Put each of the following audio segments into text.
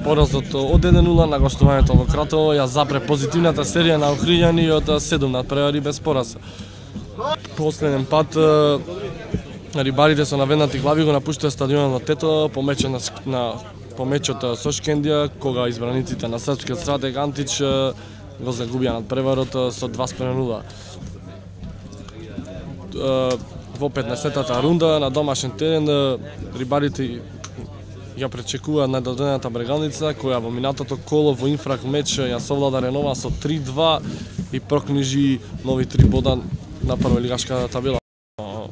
Поразот од 1-0 на гостувањето во Кратово ја запре позитивната серија на Охриѓани од 7 надпревари без пораз. Последен пат рибарите со наведнати глави го напуштаа стадионот Тето по мечот со Шкендија, кога избраниците на српскиот стратег Антич го загубија надпреварот со 2:0. Во 15-тата рунда на домашен терен рибарите ја пречекуваат најдодената Брегалница, која во минатото коло во инфрак меч ја совлада Ренова со 3-2 и прокнижи нови 3 бода на прволигашката табела.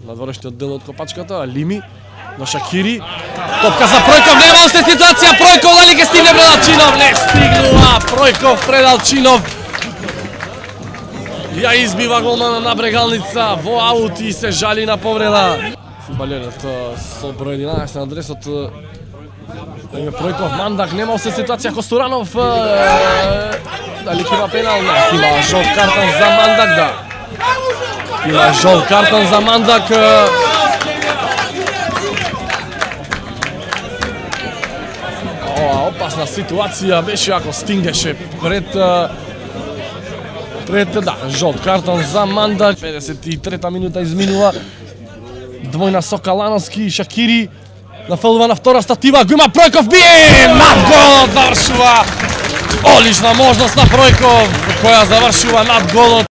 Надворешниот дел од копачката, Лими на Шакири. Топка за Пројков, нема уште ситуација, Пројков дали ќе стигне Предалчинов? Не стигнува, Пројков Предалчинов ја избива голмана на Брегалница во аут и се жали на повреда. Фудбалерот со број 11 на адресот Пројков, Мандак, нема уште ситуација, Костуранов дали ќе има пенал? Има жолт картон за Мандак, да. Има жолт картон за Мандак. Опасна ситуација беше ако стигнеше пред жолт картон за Мандак. 53-та минута изминува. Двојна со Калановски, Шакири нафалува на втора статива, го има Пројков, бие! Над голот завршува! Олична можност на Пројков, која завршува над голот.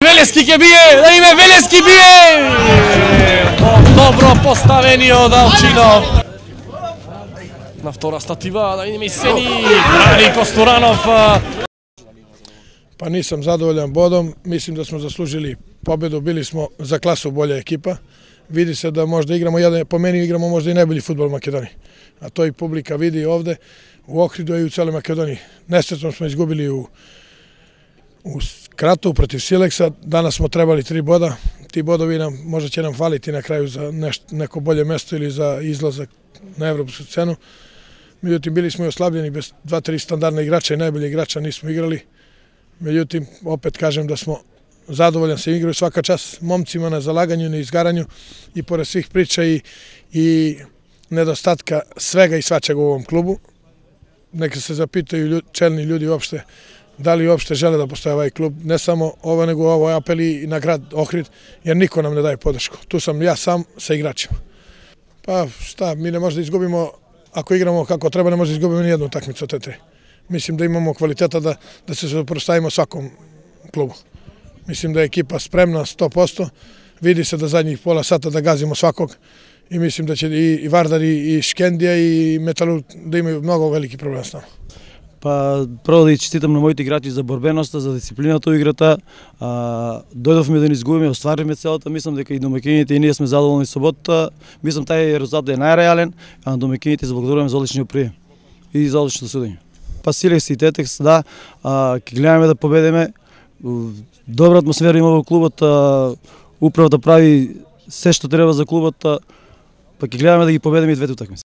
Велески ќе бие, да име Велески бие! Добро поставениот Алчинов. На втора статива, да име Сени, брани Костуранов. Па нисам задоволен бодом, мислим да смо заслужили победу, били смо за класу болја екипа. Види се да може да играмо, по мене играмо може и најбољи фудбал во Македонија. А тој публика види овде, у Охриду и у целе Македонија. Несреќно сме изгубили у Кратово против Силекса, данас смо требали 3 бода. Ти бодови може ќе нам фалити на крају за неко болje место или за излазак на европска сцену. Меѓутоа били сме ослабljeni, без 2-3 стандардни играча и најбољи играча нисмо играли. Меѓутоа, опет кажем да смо задоволен се игрaju свака час момцима на залагању, на изгарању и поред свих прича и недостатка свега и свачега у овом клубу. Нека се запитају челни људи уопште дали уопште желе да постои овај клуб, не само ова, него овој апел и на град Охрид, jer нико нам не даде подршку. Ту сам ја сам sa играчима. Па шта, ми не може да изгубимо, ако играмо како треба, не може да изгубимо ни една утакмица од те. Мислим да имамо квалитета да се сопроставимо сваком клубу. Мислим да е екипа спремна 100%, види се да задњих пола сата да газимо сваког и мислим да ќе и Вардар и Шкендија и Металург да имају многу велики проблем с nama. Па прво да честитам на моите играчи за борбеноста, за дисциплината во играта. Дојдовме да не изгубиме, остваривме целата, мислам дека и домаќините и ние сме задоволни со ботата. Мислам тај резултат е најреален, а на домаќините заблагодаруваме за одличниот прием и за одличното судење. Па Силекс и Тетекс, да, ќе гледаме да победиме. Добра атмосфера има во клубот, управата прави се што треба за клубот, па ќе гледаме да ги победиме и двете утакмици.